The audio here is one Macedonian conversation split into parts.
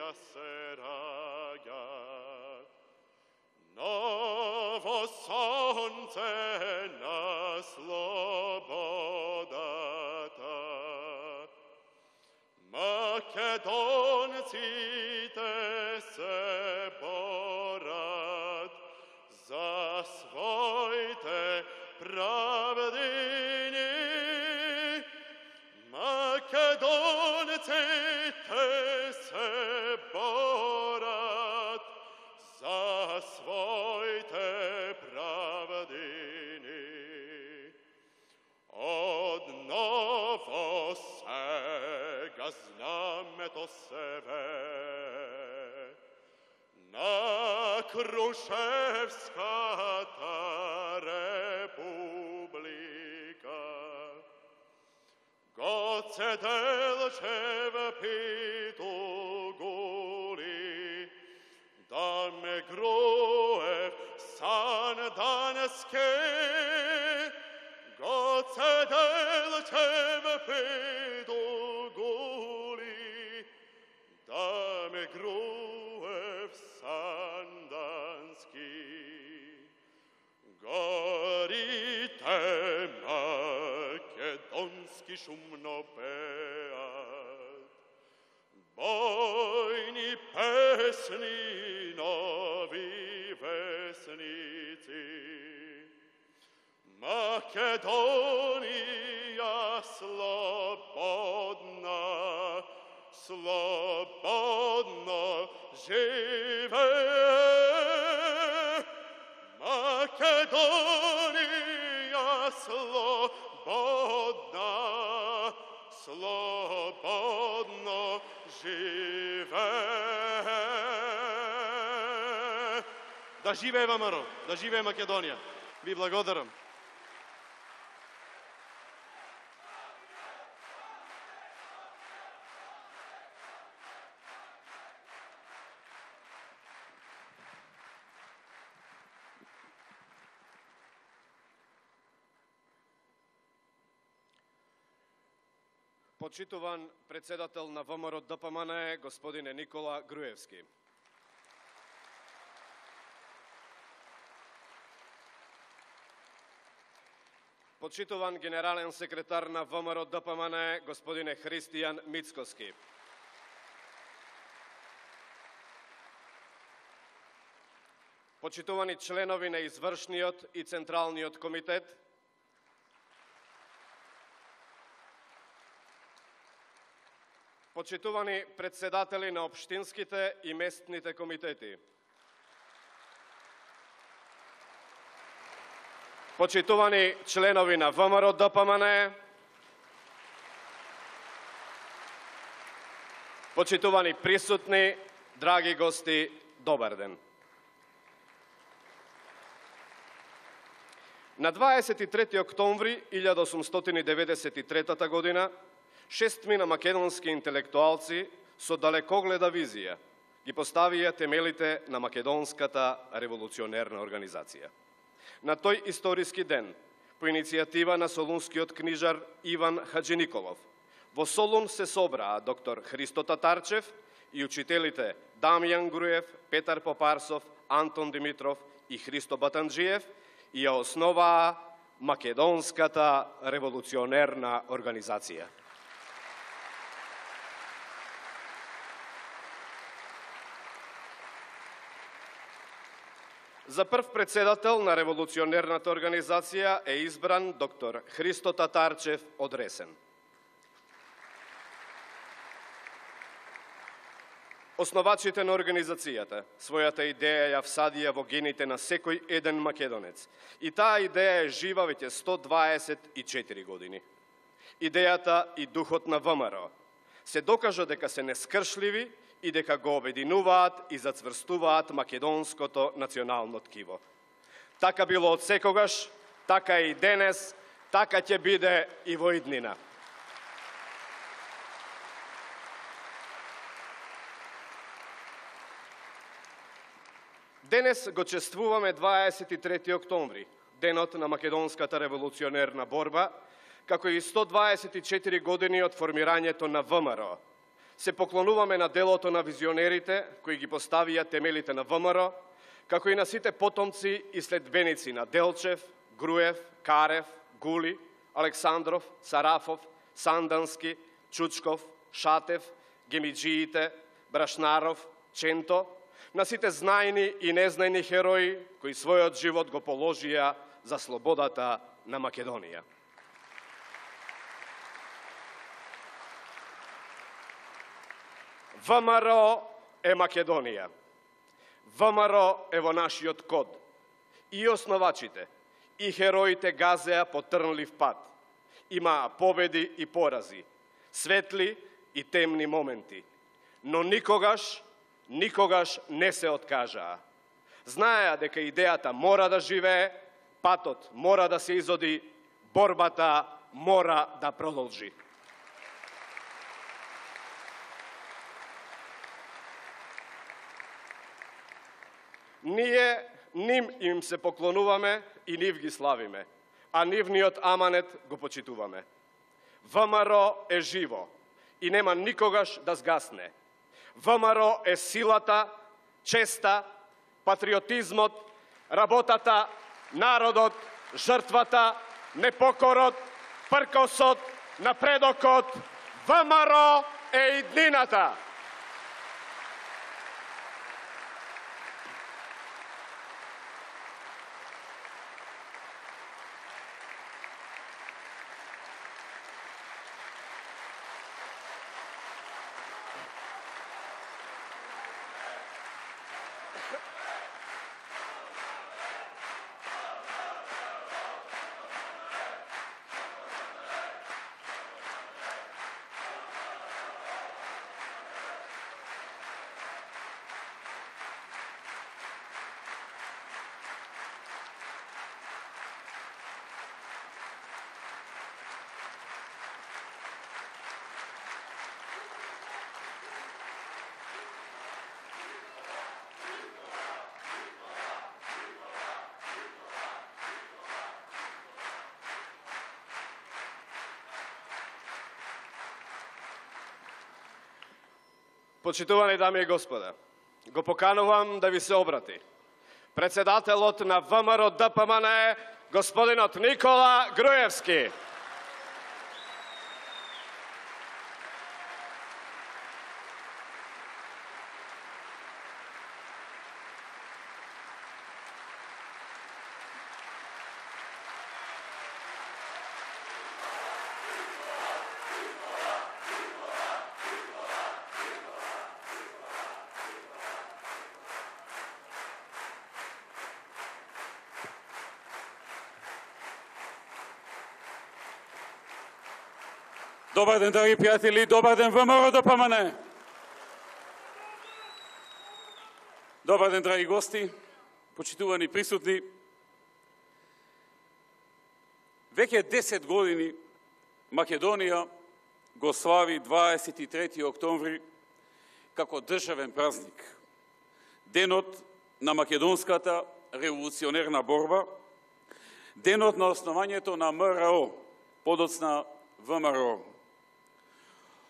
да се раѓат. Ново сонце на слободата. Македонците се борат за своите правдини. Македонците се борат за своите правдини. Одново сега знамето себе на Крушевската република. Гоце Делчев Питугули, да ме Груев Сандански. Гоце Делчев Питугули, да ме Груев Сандански. Горите македонски шумно пеат, бойни песни, нови весници. Македонија слободна, слободно живее. Македонија слободна, слободно живее. Да живее ВМРО, да живее Македонија. Ви благодарам. Почитуван председател на ВМРО ДПМН, господине Никола Груевски. Почитуван генерален секретар на ВМРО ДПМН, господине Христијан Мицкоски. Почитувани членови на извршниот и централниот комитет, почитувани председатели на општинските и местните комитети, почитувани членови на ВМРО ДПМН, почитувани присутни, драги гости, добар ден. На 23. октомври 1893 година 6 македонски интелектуалци со далекогледа визија ги поставија темелите на македонската револуционерна организација. На тој историски ден, по иницијатива на солунскиот книжар Иван Хаджиниколов, во Солун се собраа доктор Христо Татарчев и учителите Дамјан Груев, Петар Попарсов, Антон Димитров и Христо Батанджиев и ја основаа Македонската револуционерна организација. За прв председател на револуционерната организација е избран доктор Христо Татарчев од Ресен. Основачите на организацијата својата идеја ја всадија во гените на секој еден македонец. И таа идеја е жива веќе 124 години. Идејата и духот на ВМРО се докажа дека се нескршливи и дека го обединуваат и зацврстуваат македонското национално ткиво. Така било од секогаш, така и денес, така ќе биде и во иднина. Денес го чествуваме 23. октомври, денот на македонската револуционерна борба, како и 124 години од формирањето на ВМРО. се поклонуваме на делото на визионерите кои ги поставија темелите на ВМРО, како и на сите потомци и следбеници на Делчев, Груев, Карев, Гули, Александров, Сарафов, Сандански, Чучков, Шатев, Гемиджиите, Брашнаров, Ченто, на сите знајни и незнајни херои кои својот живот го положија за слободата на Македонија. ВМРО е Македонија. ВМРО е во нашиот код. И основачите, и хероите газеа по трнлив пат. Имаа победи и порази, светли и темни моменти. Но никогаш не се откажаа. Знаеа дека идејата мора да живее, патот мора да се изоди, борбата мора да продолжи. Ние ним им се поклонуваме и нив ги славиме, а нивниот аманет го почитуваме. ВМРО е живо и нема никогаш да згасне. ВМРО е силата, честа, патриотизмот, работата, народот, жртвата, непокорот, пркосот, напредокот. ВМРО е иднината. Почитувани дами и господа, го поканувам да ви се обрати председателот на ВМРО ДПМН, господинот Никола Груевски. Добар ден, драги пријатели, добар ден ВМРО ДПМН. Добар ден, драги гости, почитувани присутни. Веќе 10 години Македонија го слави 23. октомври како државен празник. Денот на македонската револуционерна борба, денот на основањето на МРО, подоцна ВМРО.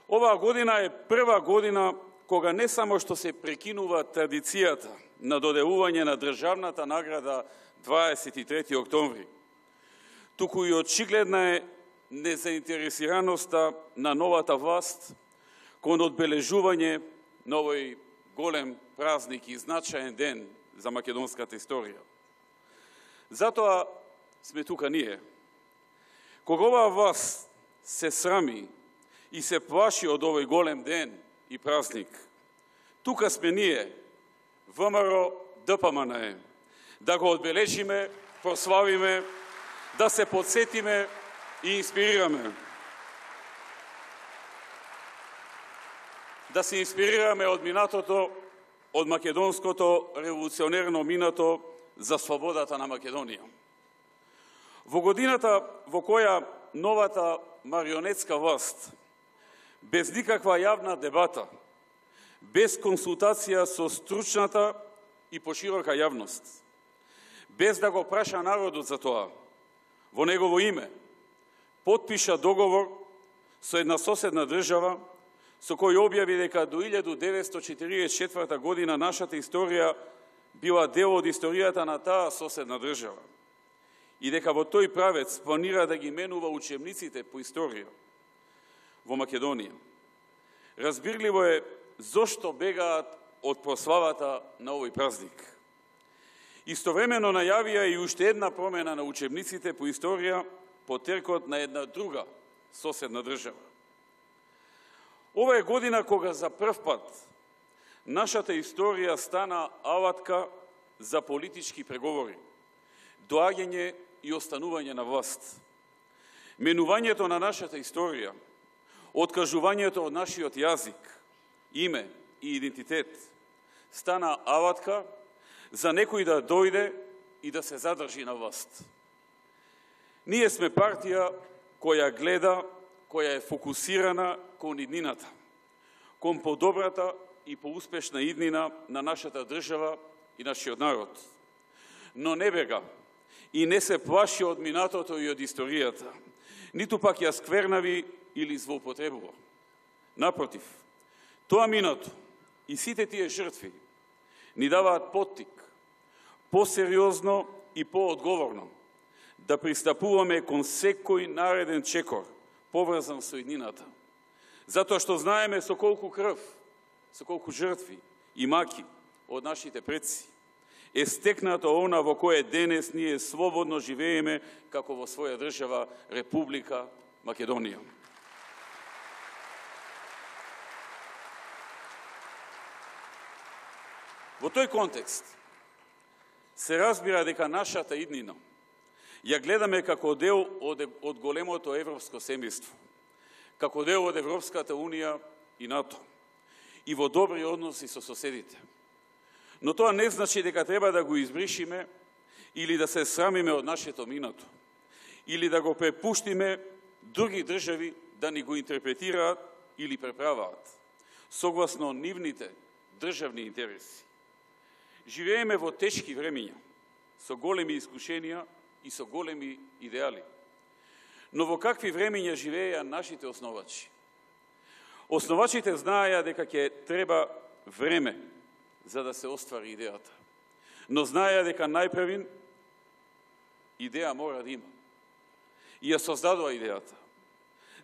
Оваа година е прва година кога не само што се прекинува традицијата на доделување на државната награда 23. октомври, туку и очигледна е незаинтересираноста на новата власт кон одбележување на овој голем празник и значаен ден за македонската историја. Затоа сме тука ние. Кога оваа власт се срами и се плаши од овој голем ден и празник, тука сме ние, ВМРО ДПМН, да го одбележиме, прославиме, да се подсетиме и инспирираме. Да се инспирираме од минатото, од македонското револуционерно минато за слободата на Македонија. Во годината во која новата марионетска власт, без никаква јавна дебата, без консултација со стручната и поширока јавност, без да го праша народот за тоа, во негово име, потпиша договор со една соседна држава, со кој објави дека до 1944 година нашата историја била дел од историјата на таа соседна држава и дека во тој правец планира да ги менува учебниците по историја во Македонија. Разбирливо е зошто бегаат од прославата на овој празник. Истовремено најавија и уште една промена на учебниците по историја по теркот на една друга соседна држава. Ова е година кога за прв пат нашата историја стана алатка за политички преговори, доаѓање и останување на власт. Менувањето на нашата историја, откажувањето од нашиот јазик, име и идентитет, стана алатка за некој да дојде и да се задржи на власт. Ние сме партија која гледа, која е фокусирана кон иднината, кон подобрата и поуспешна иднина на нашата држава и нашиот народ. Но не бега и не се плаши од минатото и од историјата, ниту пак ја сквернави или злоупотребува. Напротив, тоа минато и сите тие жртви ни даваат поттик, посериозно и поодговорно да пристапуваме кон секој нареден чекор поврзан со иднината. Затоа што знаеме со колку крв, со колку жртви и маки од нашите предци е стекнато она во кое денес ние слободно живееме како во своја држава Република Македонија. Во тој контекст се разбира дека нашата иднина ја гледаме како дел од големото европско семејство, како дел од Европската Унија и НАТО, и во добри односи со соседите. Но тоа не значи дека треба да го избришиме или да се срамиме од нашето минато, или да го препуштиме други држави да ни го интерпретираат или преправаат, согласно нивните државни интереси. Живееме во тешки времиња, со големи искушенија и со големи идеали. Но во какви времиња живееја нашите основачи? Основачите знаеја дека ќе треба време за да се оствари идејата. Но знаеја дека најпрвин идеја мора да има. И ја создадува идејата.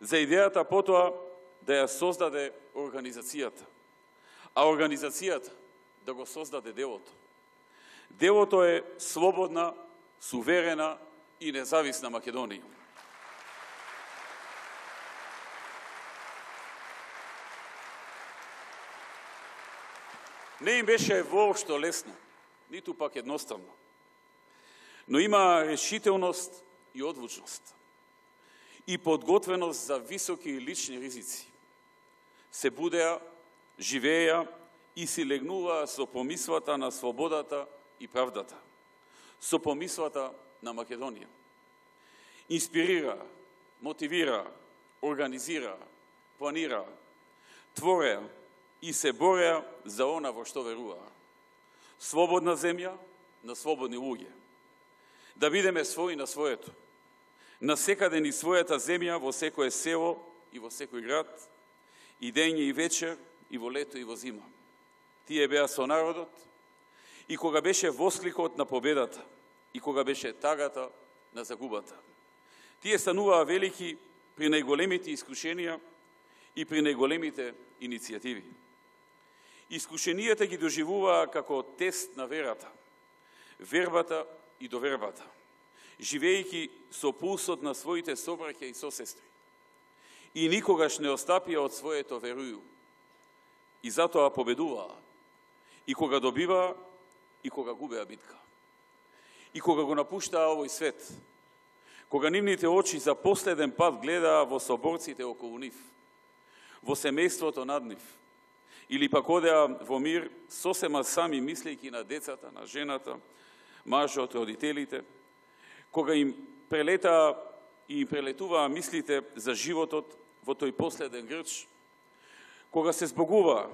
За идејата потоа да ја создаде организацијата. А организацијата да го создаде делото. Делото е слободна, суверена и независна Македонија. Не им беше воопшто лесно, ниту пак едноставно. Но има решителност и одлучност и подготвеност за високи лични ризици. Се будеа, живееа и си легнуваа со помислата на слободата и правдата, со помислата на Македонија. Инспирираа, мотивираа, организираа, планираа, твореа и се бореа за она во што веруваа. Слободна земја на слободни луѓе. Да бидеме своји на своето. Насекаде ни својата земја во секое село и во секој град, и дење и вечер, и во лето и во зима. Тие беа со народот, и кога беше воскликот на победата, и кога беше тагата на загубата. Тие стануваа велики при најголемите искушенија и при најголемите иницијативи. Искушенијата ги доживуваа како тест на верата, вербата и довербата, живејќи со пулсот на своите собраќа и сосестри. И никогаш не остапија од своето верују. И затоа победуваа, и кога добиваа, и кога губеа битка. И кога го напуштаа овој свет, кога нивните очи за последен пат гледаа во соборците околу нив, во семејството над нив, или пак одеа во мир сосема сами мислејќи на децата, на жената, мажот, родителите, кога им прелетаа и им прелетуваа мислите за животот во тој последен грч, кога се збогуваа,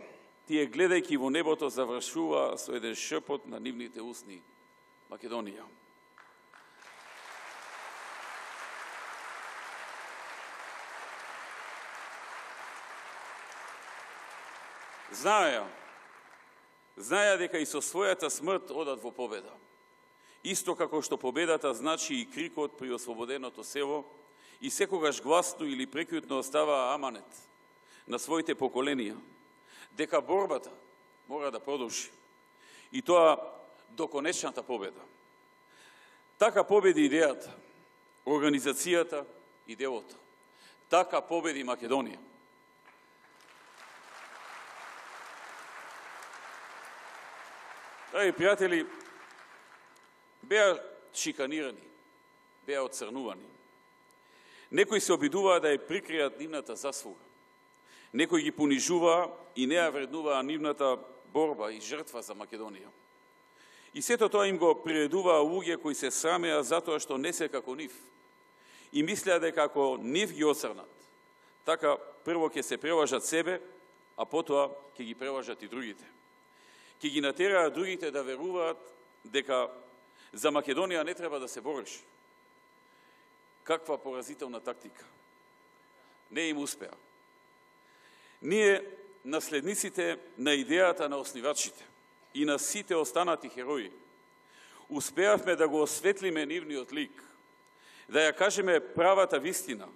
тие гледајќи во небото завршуваа со еден шепот на нивните усни: Македонија. знаеа дека и со својата смрт одат во победа. Исто како што победата значи и крикот при ослободеното село, и секогаш гласно или прекјутно оставаа аманет на своите поколенија, дека борбата мора да продолжи. И тоа до конечната победа. Така победи идејата, организацијата и делото. Така победи Македонија. Драги пријатели, беа шиканирани, беа оцрнувани. Некои се обидуваа да ја прикријат нивната заслуга. Некои ги понижуваа и не ја вреднуваа нивната борба и жртва за Македонија. И сето тоа им го приредуваа луѓе кои се срамеа затоа што не се како нив. И мислеа дека ако нив ги оцрнат, така прво ќе се прелажат себе, а потоа ќе ги прелажат и другите. Ќе ги натераат другите да веруваат дека за Македонија не треба да се бориш. Каква поразителна тактика. Не им успеа. Ние, наследниците на идејата на основачите и на сите останати херои, успеавме да го осветлиме нивниот лик, да ја кажеме правата вистина,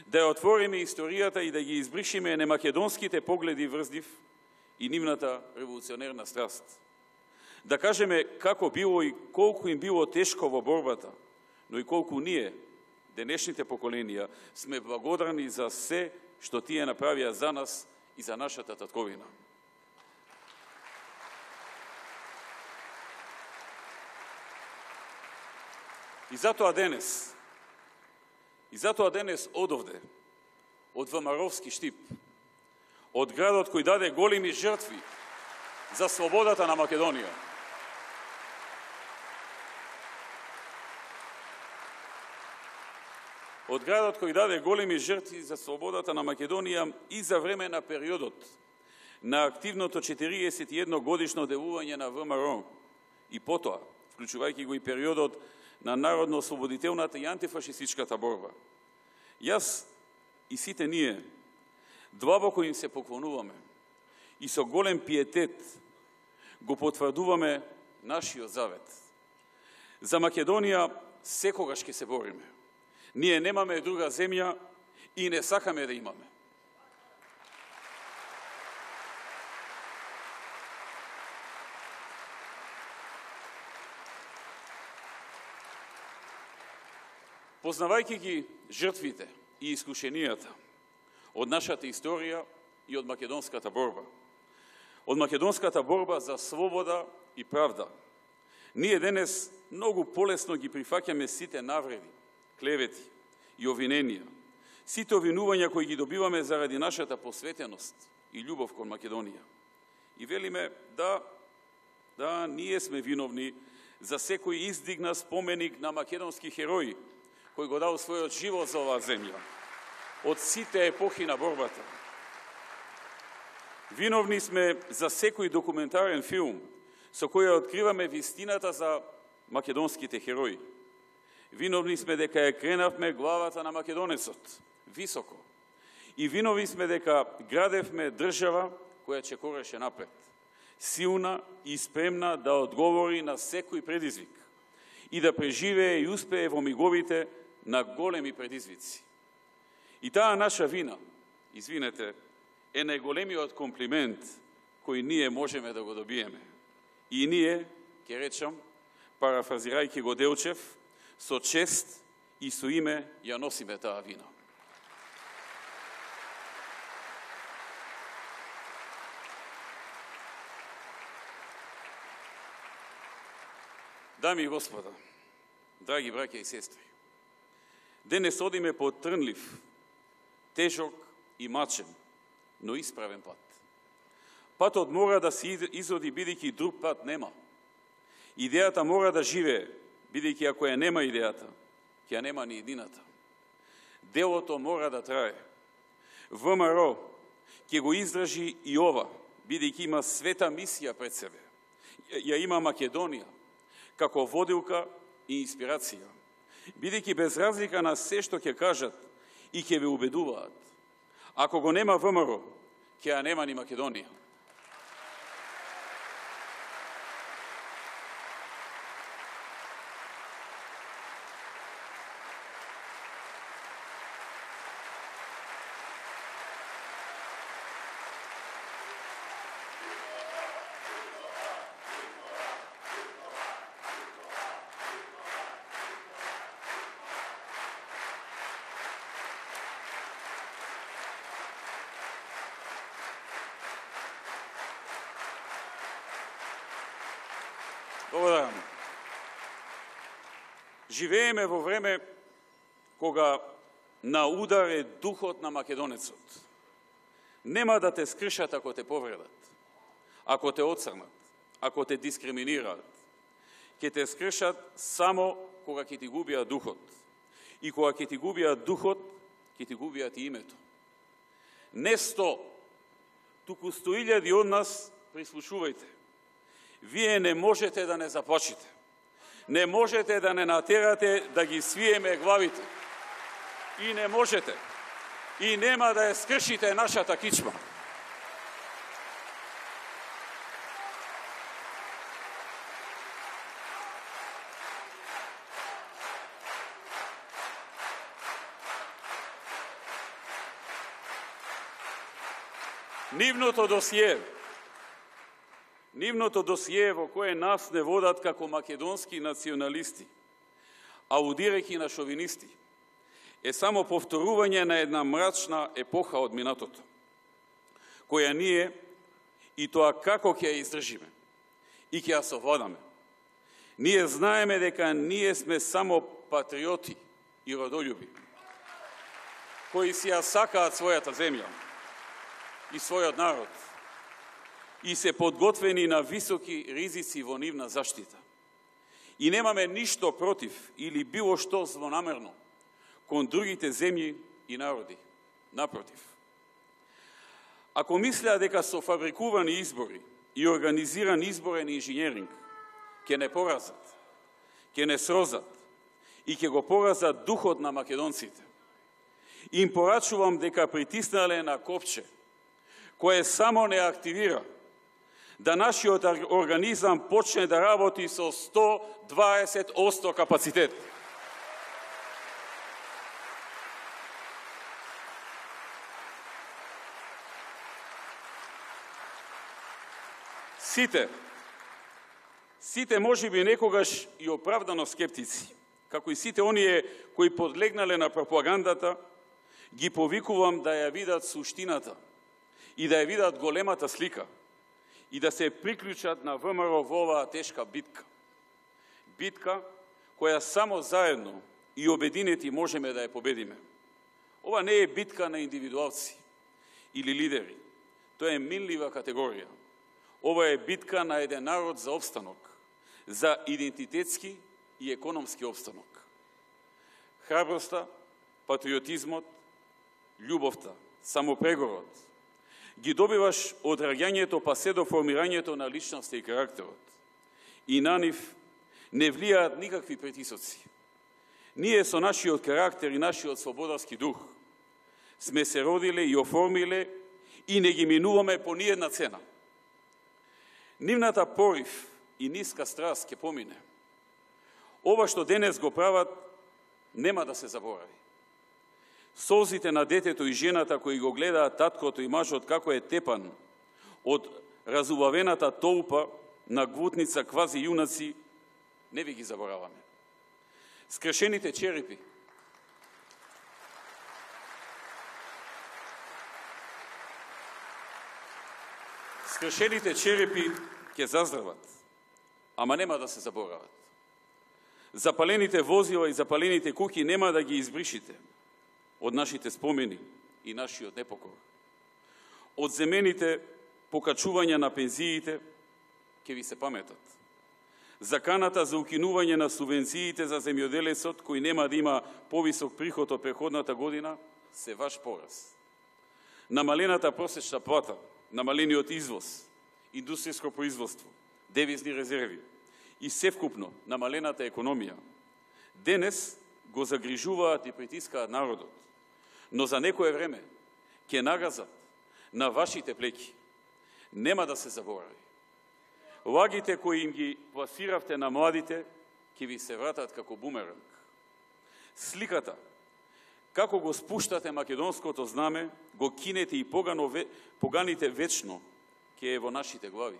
да ја отвориме историјата и да ги избришиме немакедонските погледи врз нив и нивната револуционерна страст. Да кажеме како било и колку им било тешко во борбата, но и колку ние, денешните поколенија, сме благодарни за се што тие направија за нас и за нашата татковина. И затоа денес одовде, од ВМРО-вски Штип, од градот кој даде големи жртви за слободата на Македонија, од градот кој даде големи жртви за слободата на Македонија и за време на периодот на активното 41 годишно делување на ВМРО и потоа, вклучувајќи го и периодот на народно-ослободителната и антифашистичката борба. Јас и сите ние длабоко им се поклонуваме и со голем пиетет го потврдуваме нашиот завет. За Македонија секогаш ќе се бориме. Ние немаме друга земја и не сакаме да имаме. Познавајќи ги жртвите и искушенијата од нашата историја и од македонската борба, од македонската борба за слобода и правда, ние денес многу полесно ги прифаќаме сите навреди, клевети и обвиненија, сите обвинувања кои ги добиваме заради нашата посветеност и љубов кон Македонија. И велиме да, ние сме виновни за секој издигна споменик на македонски херои, кој го дал својот живот за оваа земја, од сите епохи на борбата. Виновни сме за секој документарен филм со кој откриваме вистината за македонските херои. Виновни сме дека ја кренавме главата на македонецот високо. И виновни сме дека градевме држава која чекореше напред, силна и спремна да одговори на секој предизвик и да преживее и успее во миговите на големи предизвици. И таа наша вина, извинете, е најголемиот комплимент кој ние можеме да го добиеме. И ние, ќе речам, парафразирајќи го Делчев, со чест и со име ја носиме таа вина. Дами и господа, драги браќа и сестри, денес одиме по трнлив, тежок и мачен, но исправен пат. Патот мора да се изоди, бидејќи друг пат нема. Идејата мора да живее, бидејќи ако ја нема идејата, ќе ја нема ни едината. Делото мора да трае. ВМРО ќе го издржи и ова, бидејќи има света мисија пред себе. Ја има Македонија, како водилка и инспирација. Бидејќи без разлика на се што ќе кажат и ќе ве убедуваат, ако го нема ВМРО, ќе ја нема ни Македонија. Благодарам. Живееме во време кога на удар е духот на македонецот. Нема да те скршат ако те повредат, ако те оцрнат, ако те дискриминираат. Ќе те скршат само кога ќе ти губиат духот. И кога ќе ти губиат духот, ќе ти губиат и името. Не 100, туку 100.000 од нас, прислушувајте. Вие не можете да не заплачите. Не можете да не натерате да ги свиеме главите. И не можете. И нема да ја скршите нашата кичма. Нивното досие во кое нас не водат како македонски националисти, аудирајќи на шовинисти, е само повторување на една мрачна епоха од минатото, која ние и тоа како ќе ја издржиме и ќе ја совладаме. Ние знаеме дека ние сме само патриоти и родолюби, кои си ја сакаат својата земја и својот народ и се подготвени на високи ризици во нивна заштита. И немаме ништо против или било што злонамерно кон другите земји и народи. Напротив. Ако мислеа дека со фабрикувани избори и организиран изборен инженеринг ќе не поразат, ќе не срозат и ќе го поразат духот на македонците, им порачувам дека притиснале на копче кое само не активира, да нашиот организам почне да работи со 120% капацитет. Сите можеби некогаш и оправдано скептици, како и сите оние кои подлегнале на пропагандата, ги повикувам да ја видат суштината и да ја видат големата слика и да се приклучат на ВМРО во оваа тешка битка. Битка која само заедно и обединети можеме да ја победиме. Ова не е битка на индивидуалци или лидери. Тоа е минлива категорија. Ова е битка на еден народ за опстанок, за идентитетски и економски опстанок. Храброста, патриотизмот, љубовта, самопрегорот ги добиваш од раѓањето па се до формирањето на личноста и карактерот. И на нив не влијаат никакви притисоци. Ние со нашиот карактер и нашиот слободарски дух сме се родиле и оформиле и не ги минуваме по ниедна цена. Нивната порив и ниска страст ќе помине. Ова што денес го прават нема да се заборави. Солзите на детето и жената кои го гледаат таткото и мажот како е тепан од разубавената толпа на гвутница квази јунаци, не ви ги забораваме. Скрешените черепи, ќе заздрават, ама нема да се заборават. Запалените возила и запалените куќи нема да ги избришите од нашите спомени и нашиот непокор. Од земените покачувања на пензиите ќе ви се паметат. Заканата за укинување на субвенциите за земјоделецот, кој нема да има повисок приход од претходната година, се ваш пораз. Намалената просечна плата, намалениот извоз, индустријско производство, девизни резерви и севкупно намалената економија, денес го загрижуваат и притискаат народот, но за некое време ќе нагазат на вашите плеки. Нема да се заборави. Лагите кои им ги пласиравте на младите ќе ви се вратат како бумеранг. Сликата како го спуштате македонското знаме, го кинете и поганите вечно ќе е во нашите глави.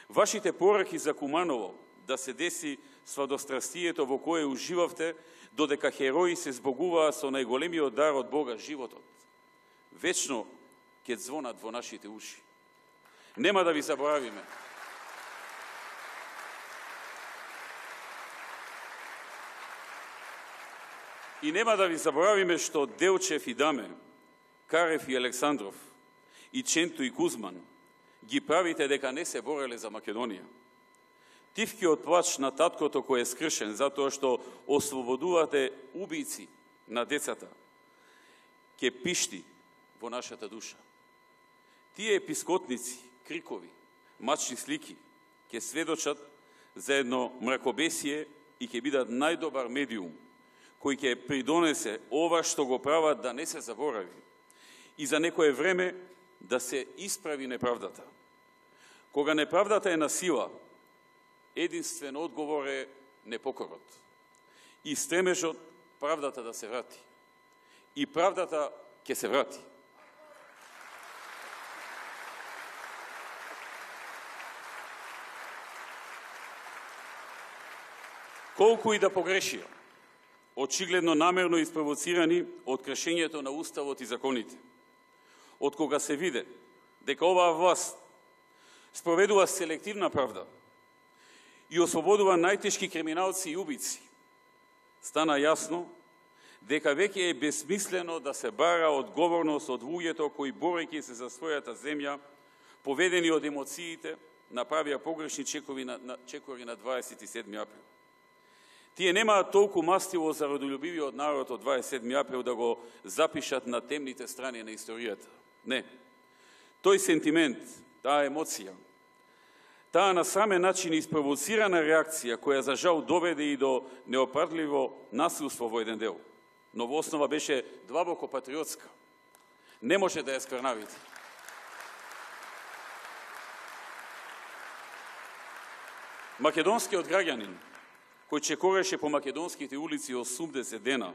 Вашите пораки за Куманово да се деси свадострастието во кое уживавте, додека херои се збогуваа со најголемиот дар од Бога, животот, вечно ќе звонат во нашите уши. Нема да ви заборавиме. И нема да ви заборавиме што Делчев и Даме, Карев и Александров, и Ченто и Кузман ги правите дека не се бореле за Македонија. Тивкиот плач на таткото кој е скршен затоа што ослободувате убици на децата, ке пишти во нашата душа. Тие епискотници, крикови, мачни слики ке сведочат за едно мракобесие и ке бидат најдобар медиум кој ќе придонесе ова што го прават да не се заборави и за некое време да се исправи неправдата. Кога неправдата е на сила, единствен одговор е непокорот и стремежот правдата да се врати. И правдата ќе се врати. Колку и да погрешија, очигледно намерно испровоцирани од кршењето на Уставот и законите, од кога се виде дека оваа власт спроведува селективна правда и ослободува најтешки криминалци и убици, стана јасно дека веќе е бесмислено да се бара одговорност од луѓето кои борејќи се за својата земја, поведени од емоциите, направија погрешни чекори на 27 април. Тие немаат толку мастило за родолюбивиот народ од 27 април да го запишат на темните страни на историјата. Не. Тој сентимент, таа емоција, таа на самен начин испровоцирана реакција која за жал доведе и до неопардливо насилство во еден дел, но во основа беше длабоко патриотска. Не може да ја скрнавите. Македонскиот граѓанин, кој чекореше по македонските улици 80 дена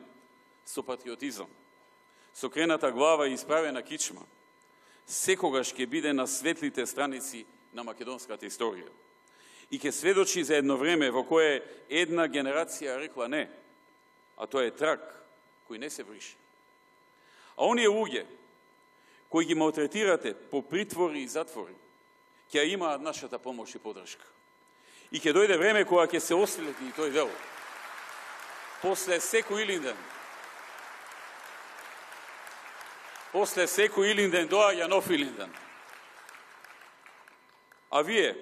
со патриотизам, со крената глава и исправена кичма, секогаш ќе биде на светлите страници на македонската историја. И ќе сведочи за едно време во кое една генерација рекла не, а тоа е трак кој не се брише. А оние луѓе кои ги малтретирате по притвори и затвори, ќе имаат нашата помош и подршка. И ќе дојде време кога ќе се ослети и тој дел. После секој Илинден доаѓа нов Илинден. А вие,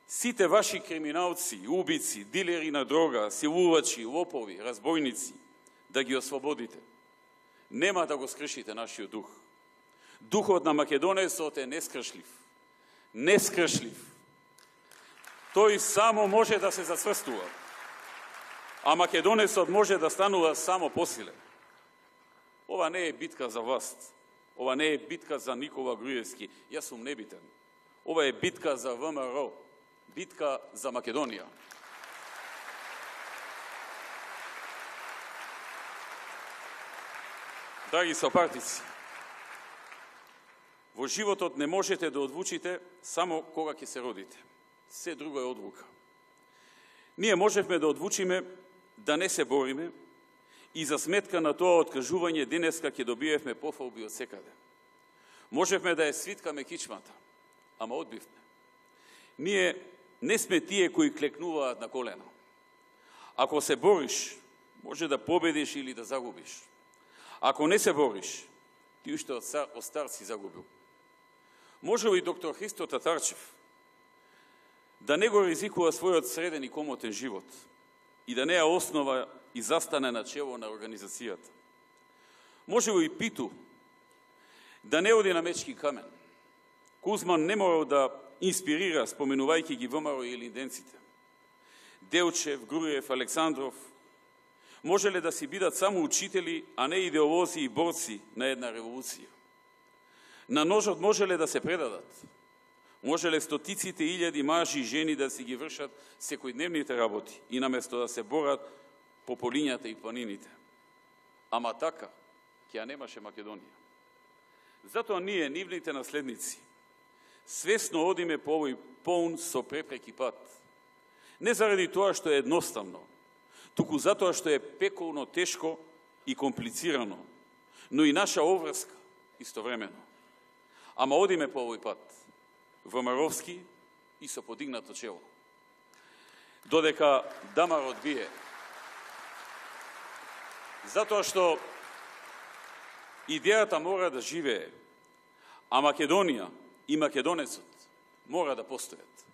сите ваши криминалци, убици, дилери на дрога, силувачи, лопови, разбойници, да ги ослободите. Нема да го скршите нашиот дух. Духот на македонецот е нескршлив. Нескршлив. Тој само може да се зацврстува, а македонецот може да станува само посилен. Ова не е битка за власт, ова не е битка за Никола Груевски, јас сум небитен. Ова е битка за ВМРО, битка за Македонија. Драги сопартици, во животот не можете да одлучите само кога ќе се родите. Се друго е одлука. Ние можевме да одлучиме да не се бориме и за сметка на тоа откажување денеска ќе добиевме пофалби од секаде. Можевме да ја свиткаме кичмата, ама одбивме. Ние не сме тие кои клекнуваат на колено. Ако се бориш, може да победиш или да загубиш. Ако не се бориш, ти уште од стар си загубил. Може ли доктор Христо Татарчев да не го ризикува својот среден и комотен живот и да не ја основа и застане на чело на организацијата? Може ли Питу да не оди на мечки камен? Кузман не морал да инспирира, споменувајќи ги ВМРО и илинденците. Делчев, Груев, Александров можеле да си бидат само учители, а не идеолози и борци на една револуција. На ножот можеле да се предадат. Можеле стотиците илјади мажи и жени да си ги вршат секојдневните работи и наместо да се борат по полињата и планините. Ама така, ќе ја немаше Македонија. Затоа ние, нивните наследници, свесно одиме по овој полн со препреки пат. Не заради тоа што е едноставно, туку затоа што е пеколно тешко и комплицирано, но и наша обврска истовремено. Ама одиме по овој пат, ВМРО-вски и со подигнато чело. Додека дамарот бие, Затоа што идејата мора да живее, а Македонија и македонецот мора да постојат.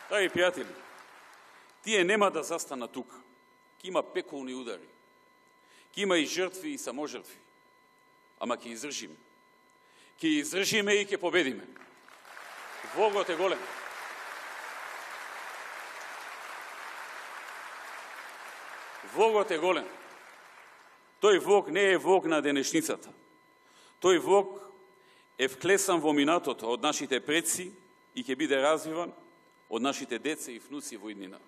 Драги пријатели, тие нема да застанат тука. Ке има пеколни удари, ке има и жртви и саможртви, ама ке издржиме. Ке издржиме и ке победиме. Вогот е голем. Вогот е голем. Тој вог не е вог на денешницата. Тој вог е вклесан во минатото од нашите предци и ќе биде развиван од нашите деца и внуци во иднина.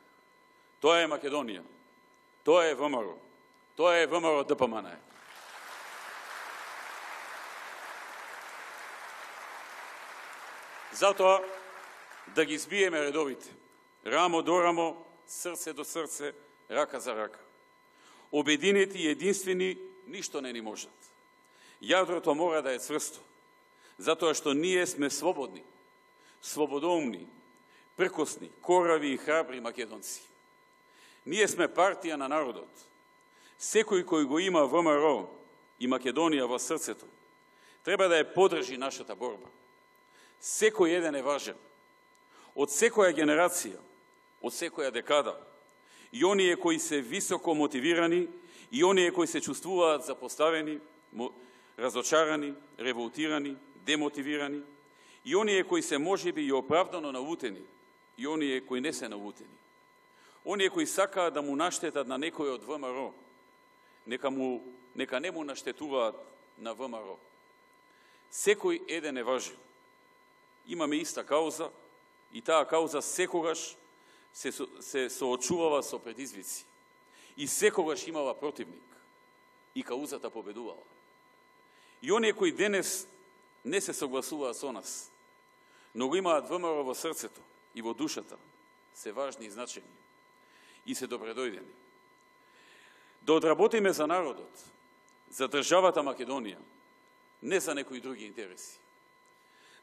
Тоа е Македонија. Тоа е ВМРО. Тоа е ВМРО ДПМН. Затоа да ги збиеме редовите. Рамо до рамо, срце до срце, рака за рака. Обединети и единствени ништо не ни можат. Јадрото мора да е цврсто, затоа што ние сме слободни, слободоумни, пркосни, корави и храбри македонци. Ние сме партија на народот. Секој кој го има ВМРО и Македонија во срцето, треба да ја подржи нашата борба. Секој еден е важен. Од секоја генерација, од секоја декада, и оние кои се високо мотивирани, и оние кои се чувствуваат запоставени, разочарани, револтирани, демотивирани, и оние кои се можеби и оправдано навутени, и оние кои не се навутени. Оние кои сакаат да му наштетат на некој од ВМРО, нека не му наштетуваат на ВМРО. Секој еден е важен. Имаме иста кауза и таа кауза секогаш се соочувава со предизвици. И секогаш имала противник. И каузата победувала. И оние кои денес не се согласуваат со нас, но го имаат ВМРО во срцето и во душата, се важни и значени. И се добредојдени. Да одработиме за народот, за државата Македонија, не за некои други интереси.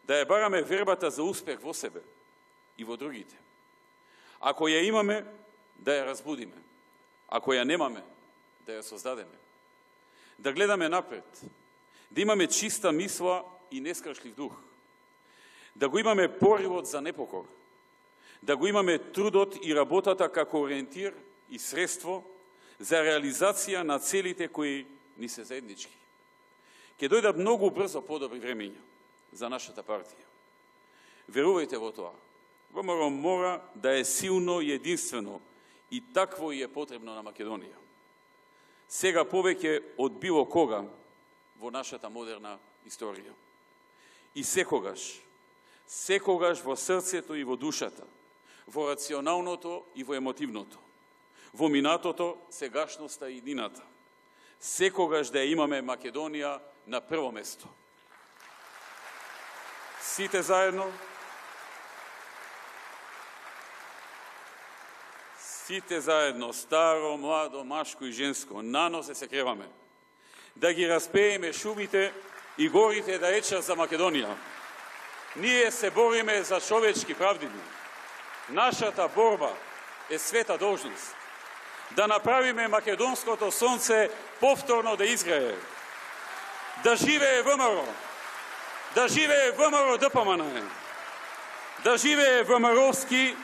Да ја бараме вербата за успех во себе и во другите. Ако ја имаме, да ја разбудиме. Ако ја немаме, да ја создадеме. Да гледаме напред, да имаме чиста мисла и нескршлив дух. Да го имаме поривот за непокор. Да го имаме трудот и работата како ориентир и средство за реализација на целите кои ни се заеднички. Ке дојдат многу брзо подобри времења за нашата партија. Верувајте во тоа. ВМРО мора да е силно и единствено и такво и е потребно на Македонија. Сега повеќе од било кога во нашата модерна историја. И секогаш во срцето и во душата, во рационалното и во емотивното, во минатото, сегашноста и иднината. Секогаш да ја имаме Македонија на прво место. Сите заедно, старо, младо, машко и женско, на нозе се креваме. Да ги распееме шумите и горите да речат за Македонија. Ние се бориме за човечки правдини. Нашата борба е света должност. Да направиме македонското сонце повторно да изгрее. Да живее ВМРО. Да живее ВМРО ДПМН. Да живее ВМРО-вски,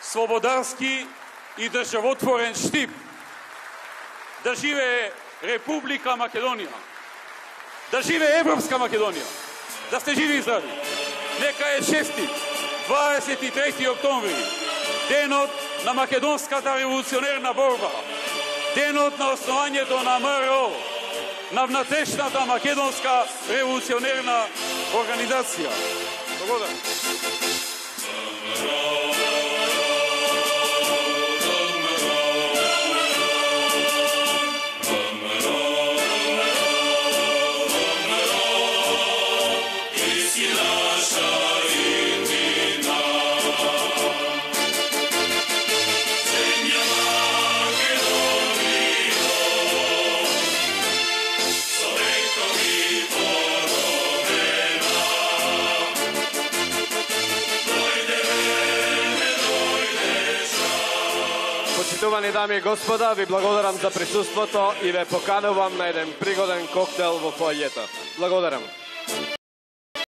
слободарски и државотворен штип. Да живее Република Македонија. Да живее Европска Македонија. Да сте живи и здрави. Нека е честит 23. октомври, денот на македонската револуционерна борба, денот на основањето на ВМРО, на внатрешната македонска револуционерна организација. Благодарам. Dojde Почитувани дами и господа, ви благодарам за присуството и ве поканувам на еден пригоден коктел во фојето. Благодарам.